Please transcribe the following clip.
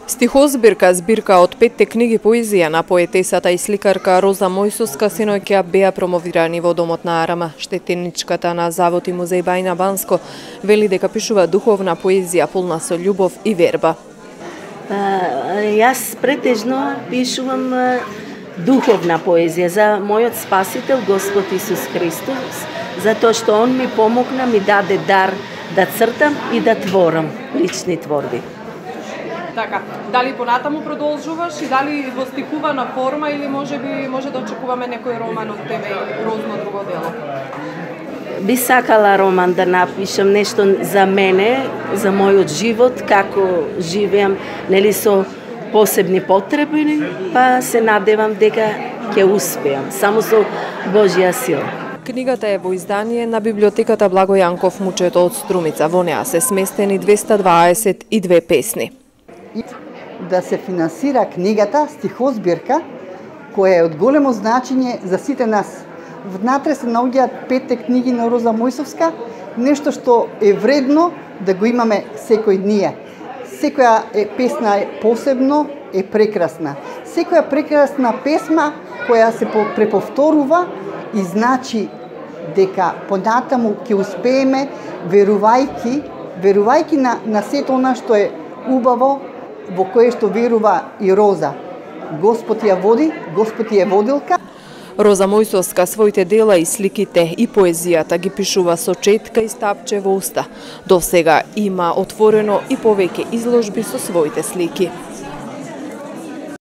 Стихозбирка, збирка од 5 книги поезија на поетесата и сликарка Роза Мојсовска синоќа беа промовирани во Домот на Арама. Штетеничката на Завод и музеј Бајна Банско вели дека пишува духовна поезија полна со љубов и верба. Јас претежно пишувам духовна поезија за мојот спасител Господ Исус Христос, затоа што Он ми помогна, ми даде дар да цртам и да творам лични творби. Така, дали понатаму продолжуваш и дали во стихувана форма или може да очекуваме некој роман од тебе или грозно друго дело? Би сакала роман да напишам нешто за мене, за мојот живот, како живеам, нели со посебни потреби, па се надевам дека ќе успеам, само со Божја сила. Книгата е во издание на библиотеката Благо Јанков Мучето од Струмица. Во неа се сместени 222 песни. Да се финансира книгата стихозбирка, која е од големо значење за сите нас. Внатре се наоѓаат 5 книги на Роза Мојсовска, нешто што е вредно да го имаме секој ние. Секоја песна е посебно, е прекрасна. Секоја прекрасна песма која се преповторува и значи дека понатаму ќе успееме верувајќи на сето она што е убаво, во кое што верува и Роза. Господ ја води, Господ ја водилка. Роза Мојсовска своите дела и сликите и поезијата ги пишува со четка и стапче во уста. До сега има отворено и повеќе изложби со своите слики.